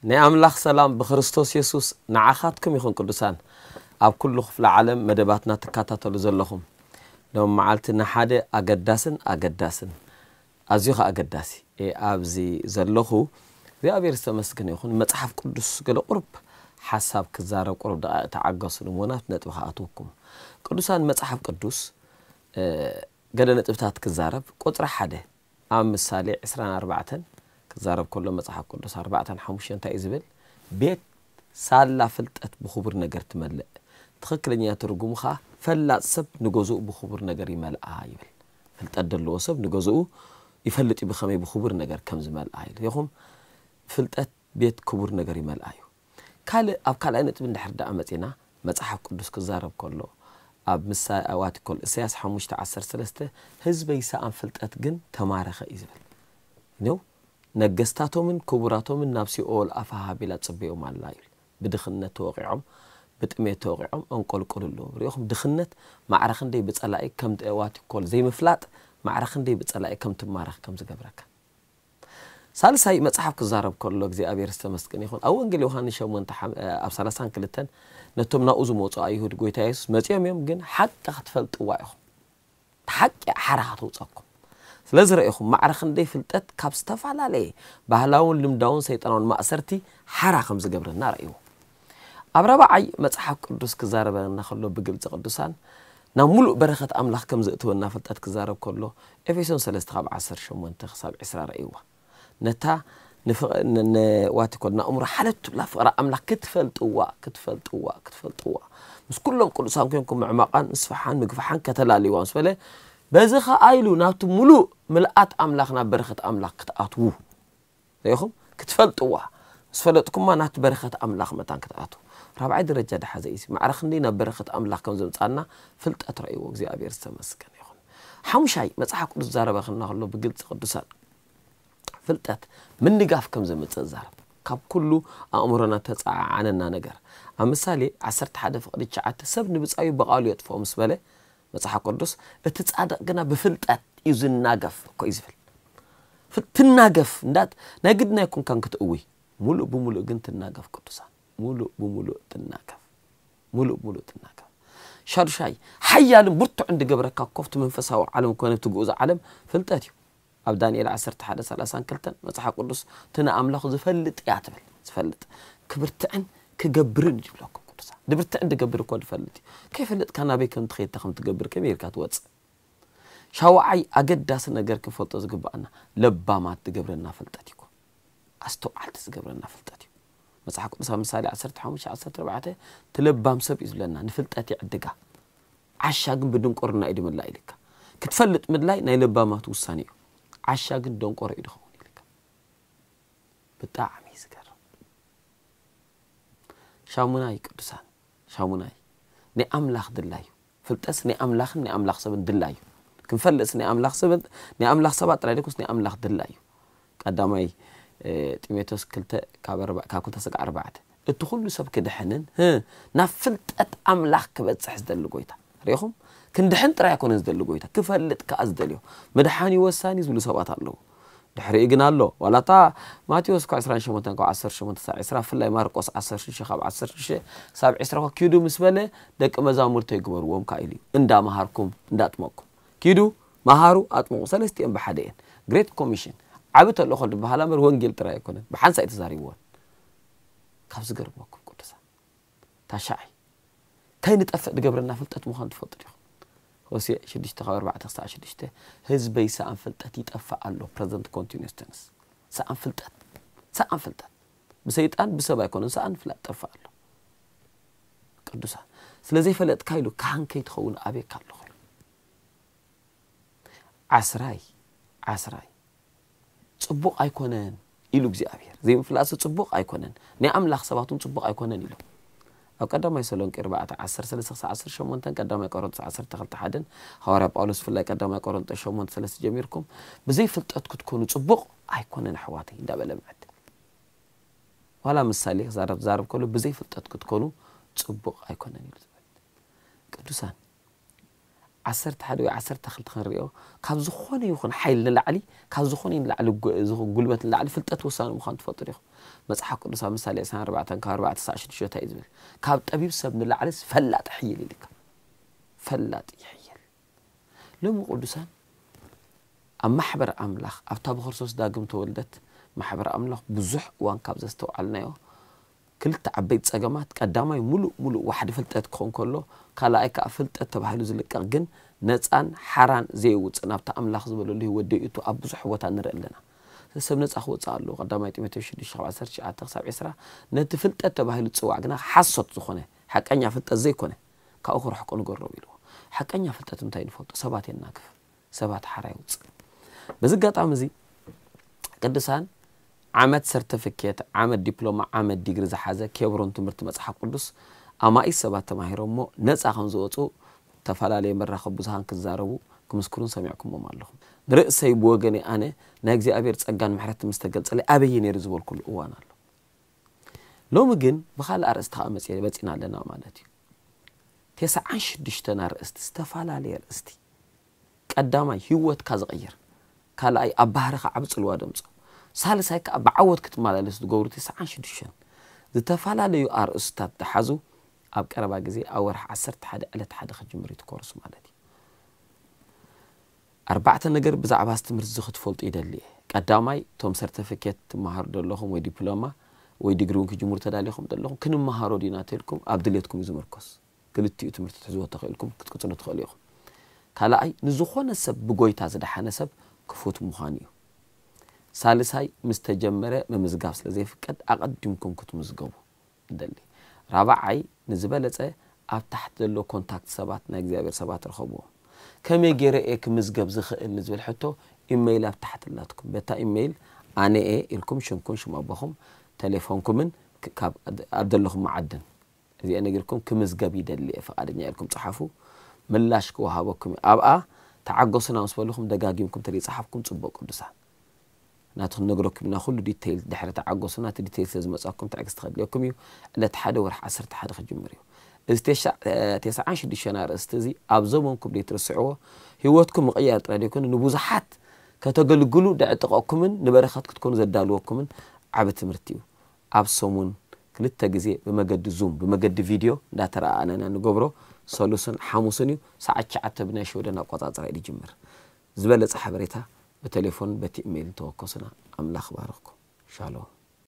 ናይ ኣምላኽ ሰላም ብክርስቶስ የሱስ ንዓኻትኩም ይኹን። ቅዱሳን፣ ኣብ ኩሉ ክፍለ ዓለም መደባትና ትከታተሉ ዘለኹም፣ ሎም መዓልቲ ንሓደ ኣገዳስን ኣገዳስን ኣዝዩ ኸኣ ኣገዳሲ ኣብዚ ዘለኹ እግዚኣብሔር ዝተመስገነ ይኹን። መጽሓፍ ቅዱስ ገለ ቁሩብ ሓሳብ ክዛረብ ቁሩብ ደቓ ተዓገሱ፣ ንሞናት ነጥቢ ክኣትወኩም። ቅዱሳን፣ መጽሓፍ ቅዱስ ገለ ነጥብታት ክዛረብ። ቁጽሪ ሓደ ኣብ ምሳሌ ዕስራን ኣርባዕተን ክዛረብ ከሎ መጽሓፍ ቅዱስ ኣርባዕተን ሓሙሽተን እንታይ እዩ ዝብል? ቤት ሳላ ፍልጠት ብኽቡር ነገር ትመልእ። ትኽክለኛ ትርጉሙ ኸኣ ፈላጥ ሰብ ንገዝኡ ብኽቡር ነገር ይመልኣ ይብል። ፍልጠት ዘለዎ ሰብ ንገዝኡ ይፈልጥ እዩ ብኸመይ ብኽቡር ነገር ከም ዝመልኣ ኢሉ። ይኹም ፍልጠት ቤት ክቡር ነገር ይመልኣ እዩ። ካልእ፣ ኣብ ካልኣይ ነጥቢ እንድሕር ደኣ መጺና፣ መጽሓፍ ቅዱስ ክዛረብ ከሎ ኣብ ምሳ-፣ ኣብ ኣትኮል እሳያስ ሓሙሽተ ዓሰርተ ሰለስተ፣ "ህዝበይ ሰኣን ፍልጠት ግን ተማረኸ" እዩ ዝብል። ነው፣ ነገስታቶምን ክቡራቶምን ናብ ሲኦል ኣፋ ሃቢላ ጽበዮም ኣላ ይብል። ብድኽነት ተወቂዖም፣ ብጥሜት ተወቂዖም እንቆልቆሉ ኣለዉ። ሪኢኹም፣ ድኽነት ማዕረ ክንደይ ብጸላኢ ከም ዋቲኮል ዘይምፍላጥ ማዕረ ክንደይ ብጸላኢ ከም ትማረኽ ከም ዝገብረካ። ሳልሳይ፣ መጽሓፍ ክዛረብ ከሎ እግዚኣብሔር ዝተመስገነ ይኹን። ኣብ ወንጌል ዮሃንስ ሸሞንተ ሓም-፣ ኣብ ሰላሳን ክልተን፣ ነቶም ናብኡ ዝመጹ ኣይሁድ ጎይታ የሱስ መጺኦም እዮም፣ ግን ሓቂ ክትፈልጥዋ ኢኹም። ሓቂ ሓራ ከተውጸኩም። ስለዚ ረኢኹም፣ ማዕረ ክንደይ ፍልጠት ካብ ዝተፈላለየ ባህላውን ልምዳውን ሰይጣናውን ማእሰርቲ ሓራ ከም ዝገብረና ረእይዎ። ኣብ ራብዓይ፣ መጽሓፍ ቅዱስ ክዛረበና ከሎ ብግልጺ፣ ቅዱሳን፣ ናብ ሙሉእ በረኸት ኣምላኽ ከም ዘእትወና ፍልጠት ክዛረብ ከሎ፣ ኤፌሶን ሰለስተ ካብ ዓሰርተ ሸሞንተ ክሳብ ዕስራ ረእይዋ። ነታ ንፍቕ-፣ ን-፣ ን-፣ ዋት ይኮል፣ ንኣእምሮ ሓለት ትብላ ፍቕሪ ኣምላኽ ክትፈልጥዋ፣ ክትፈልጥዋ፣ ክትፈልጥዋ፣ ምስ ኩሎም ቅዱሳን ኮንኩም ምዕማቓን ምስፍሓን ምግፍሓን ከተላልይዋ ምስ በለ፣ በዚ ኸኣ ኢሉ ናብቲ ሙሉእ ምልኣት ኣምላኽ፣ ናብ በረኸት ኣምላኽ ክትኣትዉ። ርኢኹም? ክትፈልጥዋ። ምስ ፈለጥኩማ ናቲ በረኸት ኣምላኽ መታን ክትኣትዉ። ራብዓይ ደረጃ ድሓዘ እዩ። ማዕረ ክንደይ ናብ በረኸት ኣምላኽ ከም ዘምጻና ፍልጠት ረእይዎ። እግዚኣብሔር ዝተመስገነ ይኹን። ሓሙሻይ፣ መጽሓፍ ቅዱስ ዝዛረበ ከሎ ብግልጺ፣ ቅዱሳን፣ ፍልጠት ምንጋፍ ከም ዘምጽእ ዛረብ። ካብ ኩሉ ኣእምሮና ተጻዓዓነና ነገር። ኣብ ምሳሌ ዓሰርተ ሓደ ፍቕዲ ትሽዓተ፣ "ሰብ ንብጻዩ ብቓሉ የጥፍኦ" ምስ በለ መጽሓፍ ቅዱስ፣ "እቲ ጻድቕ ግና ብፍልጠት እዩ ዝናገፍ" እኮ እዩ ዝብል። ፍል-፣ ትናገፍ፣ እንዳት-፣ ናይ ግድና ኣይኮንካን ክትእዊ። ሙሉእ ብሙሉእ ግን ትናገፍ ቅዱሳን። ሙሉእ ብሙሉእ ትናገፍ። ሙሉእ ብሙሉእ ትናገፍ። ሻዱሻይ፣ ሓያልን ብርቱዕን ዝገብረካ ኮፍቲ መንፈሳዊ ዓለም ኮነ እቲ ግኡዝ ዓለም ፍልጠት እዩ። ኣብ ዳንኤል ዓሰርተ ሓደ ሰላሳን ክልተን መጽሓፍ ቅዱስ፣ "እቲ ንኣምላኹ ዝፈልጥ እያ" ትብል። ዝፈልጥ። ክብርትዕን ክገብርን እዩ ዝብለኩም ቅዱሳን። ድብርትዕን ድገብር እኮ ዝፈልጥ እዩ። ከይፈለጥካ ናበይ ከም ትኸይድ፣ እንታይ ከም ትገብር፣ ከመይ ኢልካ ትወጽእ? ሻውዓይ ኣገዳሲ ነገር ክንፈልጦ ዝግብኣና፣ ለባማት ዝገብረና ፍልጠት እዩ። ኣስተውዓልቲ ዝገብረና ፍልጠት እዩ። መጽሓፍ ቅዱስ ኣብ ምሳሌ ዓሰርተ ሓሙሽተ ዓሰርተ ኣርባዕተ፣ "እቲ ለባም ሰብ" እዩ ዝብለና፣ "ንፍልጠት ይዕድጋ፣ ዓሻ ግን ብድንቁርና እዩ ድምላእ" ኢልካ። ክትፈልጥ ምድላይ ናይ ለባማት ውሳኔ እዩ። ዓሻ ግን ደንቆሮ እዩ ድኸውን ኢልካ። ብጣዕሚ እዩ ዝገርም። ሻሙናይ ቅዱሳን፣ ሻሙናይ ናይ ኣምላኽ ድላይ እዩ። ፍልጠትስ ናይ ኣምላኽን ናይ ኣምላኽ ሰብን ድላይ እዩ። ክንፈልጥስ ናይ ኣምላኽ ሰብን፣ ናይ ኣምላኽ ሰባት ጥራይ ደይኮስ ናይ ኣምላኽ ድላይ እዩ። ቀዳማይ፣ እ፣ ጢሞቴዎስ ክልተ ካብ ኣርባ-፣ ካብ ክልተ ስጋዕ ኣርባዕተ። እቲ ኩሉ ሰብ ክድሕንን፣ ህ፣ ናብ ፍልጠት ኣምላኽ ክበጽሕ ዝደሊ ጎይታ። ርኢኹም? ክንድሕን ጥራይ ኣይኮነን ዝደሊ ጎይታ፣ ክፈልጥ ከኣ ዝደልዮ። ምድሓን እዩ ወሳኒ ዝብሉ ሰባት ኣለዉ። ድሕሪኡ ግን ኣሎ። ዋላ እታ ማቴዎስ እኳ ዕስራን ሸሞንተን ካብ ዓሰርተ ሸሞንተ ክሳብ ዕስራ፣ ብፍላይ ማርቆስ ዓሰርተ ሽዱሽተ ካብ ዓሰርተ ሽዱሽተ ክሳብ ዕስራ እኳ ኪዱ ምስ በለ፣ ደቂ መዛሙርተይ ግበርዎም ከኣ ኢሉ እዩ። እንዳመሃርኩም፣ እንዳጥመቕኩም። ኪዱ፣ መሃሩ፣ ኣጥምቑ፣ ሰለስቲኦም ብሓደ እየን። ግሬት ኮሚሽን፣ ዓቢ ተልእኾ ዝበሃላ እምበር ወንጌል ጥራይ ኣይኮነን። ብሓንሳእ እዩ ተዛሪብወን። ካብ ዝገርመኩም ቅዱሳን። ታሽዓይ፣ ከይንጠፍእ ዝገብረና ፍልጠት ምዃኑ ትፈልጡ ዲኹም? ሆሴዕ ሽዱሽተ ካብ ኣርባዕተ ክሳዕ ሽዱሽተ፣ "ህዝበይ ሰኣን ፍልጠት ይጠፍእ ኣሎ"፣ ፕረዘንት ኮንቲኒየስ ተንስ። ሰኣን ፍልጠት፣ ሰኣን ፍልጠት። ብሰይጣን ብሰብ ኣይኮነን፣ ሰኣን ፍልጠት ይጠፍእ ኣሎ። ቅዱሳን፣ ስለ ዘይፈለጥካ ኢሉ ካህን ከይትኸውን ኣቤካ ኣለኹ ኢሉ። ዓስራይ፣ ዓስራይ፣ ጽቡቕ ኣይኮነን ኢሉ እግዚኣብሔር። ዘይምፍላጥሲ ጽቡቕ ኣይኮነን፣ ናይ ኣምላኽ ሰባት እውን ጽቡቕ ኣይኮነን ኢሉ። ኣብ ቀዳማይ ተሰሎንቄ ኣርባዕተ፣ ዓሰርተ ሰለስተ ክሳብ ዓሰርተ ሸሞንተን፣ ቀዳማይ ቆሮንቶስ ዓሰርተ ክልተ ሓደን፣ ሃዋርያ ጳውሎስ ብፍላይ ቀዳማይ ቆሮንቶስ ሸሞንተ ሰለስተ ጀሚርኩም፣ "ብዘይ ፍልጠት ክትኮኑ ጽቡቕ ኣይኮነን ኣሕዋተይ" እንዳበለ ምዕድ። ዋላ ምሳሌ ክዛረብ፣ ዝዛረብ ከሎ፣ "ብዘይ ፍልጠት ክትኮኑ ጽቡቕ ኣይኮነን" ኢሉ ዝብል። ቅዱሳን፣ ዓሰርተ ሓደ ወይ ዓሰርተ ክልተ ክንሪኦ፣ ካብ ዝኾነ ይኹን ሓይል ንላዕሊ፣ ካብ ዝኾነ ንላዕሊ ጉ- ዝኹ- ጉልበት ንላዕሊ ፍልጠት ወሳኒ ምዃኑ ትፈልጡ ዲኹም? መጽሓፍ ቅዱስ ኣብ ምሳሌ ዕስራን ኣርባዕተን ካብ ኣርባዕተ ክሳዕ ሽዱሽተ እንታይ እዩ ዝብል? ካብ ጠቢብ ሰብ ንላዕሊ ፈላጥ ይሕይል ኢልካ። ፈላጥ ይሕይል። ሎሚ ቅዱሳን ኣብ ማሕበር ኣምላኽ ኣብታ ብክርስቶስ ዳግም ተወልደት ማሕበር ኣምላኽ ብዙሕ እዋን ካብ ዘስተውዓልናዮ ክልተ ዓበይቲ ጸገማት፣ ቀዳማይ ሙሉእ ሙሉእ ዋሕዲ ፍልጠት ክኾን ከሎ፣ ካልኣይ ከኣ ፍልጠት ተባሂሉ ዝልቀቕ ግን ነጻን ሓራን ዘይውጽእ ናብቲ ኣምላኽ ዝበለሉ ህይወት ደይእቱ ኣብ ብዙሕ ቦታ ንርኢ ኣለና። ሰብ ነጻ ክወጽእ ኣለዎ። ቀዳማይ ጢሞቴዎስ ሽዱሽተ ካብ ዓሰርተ ትሽዓተ ክሳብ ዕስራ ነቲ ፍልጠት ተባሂሉ ዝጽዋዕ ግና ሓሶት ዝኾነ ሓቀኛ ፍልጠት ዘይኮነ ካብኡ ክርሕቁ ንገሮም ኢልዎ። ሓቀኛ ፍልጠት እንታይ ንፈልጦ? ሰባት የናግፍ፣ ሰባት ሓራ የውጽእ። በዚ ኣጋጣሚ እዚ ቅዱሳን ዓመት ሰርተፊኬት፣ ዓመት ዲፕሎማ፣ ዓመት ዲግሪ ዝሓዘ ኬብሮን ትምህርቲ መጽሓፍ ቅዱስ ኣማኢት ሰባት ተማሂሮሞ ነጻ ከም ዝወጹ ዝተፈላለየ መራኸቢ ብዙሃን ክዛረቡ ክምስክሩን ሰሚዕኩሞም ኣለኹም። ንርእሰይ ብወገነይ ኣነ ናይ እግዚኣብሔር ጸጋን ምሕረት ምስ ተገልጸለይ ኣበየ ነይሩ ዝበልኩሉ እዋን ኣሎ። ሎሚ ግን ብኻልእ ኣርእስቲ ከዓ መጽ- መጺና ኣለና ማለት እዩ። ተስዓን ሽዱሽተን ኣርእስቲ፣ ዝተፈላለየ ኣርእስቲ። ቀዳማይ ህይወትካ ዝቕይር፣ ካልኣይ ኣብ ባህርኻ ዓቢ ጽልዋ ደምጾ፣ ሳልሳይ ከዓ ብዓወት ክትመላለስ ዝገብሩ ተስዓን ሽዱሽተን ዝተፈላለዩ ኣርእስታት ዝሓዙ ኣብ ቀረባ ግዜ ኣብ ወርሒ ዓሰርተ ሓደ ዕለት ሓደ ክጅምር እዩ እቲ ኮርስ ማለት እዩ። ኣርባዕተ ነገር ብዛዕባ እዚ ትምህርቲ እዚ ክትፈልጡ ይደሊ እየ። ቀዳማይ፣ እቶም ሰርተፊኬት ትመሃሩ ዘለኹም ወይ ዲፕሎማ ወይ ዲግሪ እውን ክጅምሩ ተዳሊኹም ዘለኹም ክንመሃሮ ዲና ተልኩም ኣብ ድሌትኩም እዩ ዝምርኮስ። ክልቲኡ ትምህርቲ ትሕዝዎ ተኽእልኩም ክትቅጽሉ ትኽእሉ ኢኹም። ካልኣይ፣ ንዝኾነ ሰብ ብጎይታ ዝደሓነ ሰብ ክፉት ምዃኑ እዩ። ሳልሳይ፣ ምስ ተጀመረ ምምዝጋብ ስለ ዘይፍቀድ ኣቐዲምኩም ክትምዝገቡ ንደሊ። ራብዓይ፣ ንዝበለጸ ኣብ ታሕቲ ዘሎ ኮንታክት ሰባት ናይ እግዚኣብሔር ሰባት ርኸብዎም። ከመይ ገይረ እየ ክምዝገብ ዝኽእል ንዝብል ሕቶ ኢሜይል ኣብ ታሕቲ ኣላትኩም። በታ ኢሜይል ኣነ እየ ኢልኩም ሽምኩም ሽም ኣቦኹም ቴሌፎንኩምን ክ- ካብ ኣብ ዘለኹም መዓድን እዚአ ነጊርኩም ክምዝገብ ይደሊ እየ ፍቓደኛ ኢልኩም ጸሓፉ። ምላሽ ክወሃበኩም እዩ። ኣብኣ ተዓገሱና ምስ በልኹም ደጋጊምኩም ተዘይጸሓፍኩም ጽቡቕ ቅዱሳን። ናቱ ክንነግረኩም ኢና ኩሉ ዲቴይል ድሕሪ ተዓገሱና እቲ ዲቴይል ስለ ዝመጻኩም ትዕግስቲ ከድልየኩም እዩ። ዕለት ሓደ ወርሒ ዓሰርተ ሓደ ክጅምር እዩ። እዚ ተሻ- እ፣ ተስዓን ሽዱሽተን ኣርእስቲ እዚ ኣብ ዘመንኩም ዘይትርስዕዎ ህይወትኩም ምቕያር ጥራይ ዘይኮነ ንብዙሓት ከተገልግሉ ደዕጥቀኩምን ንበረኸት ክትኮኑ ዘዳልወኩምን ዓቢ ትምህርቲ እዩ። ኣብ ሰሙን ክልተ ግዜ ብመገዲ ዙም ብመገዲ ቪድዮ እንዳተረኣኣና ኢና ንገብሮ። ሰሉስን ሓሙስን እዩ። ሰዓት ትሽዓተ ብናይ ሽወደን ኣቆጻጽራ እዩ ዝጅምር። ዝበለጸ ሓበሬታ ብቴሌፎን በቲ ኢሜይል እንተወከሱና ኣምላኽ ባርኽኩም። ሻሎም።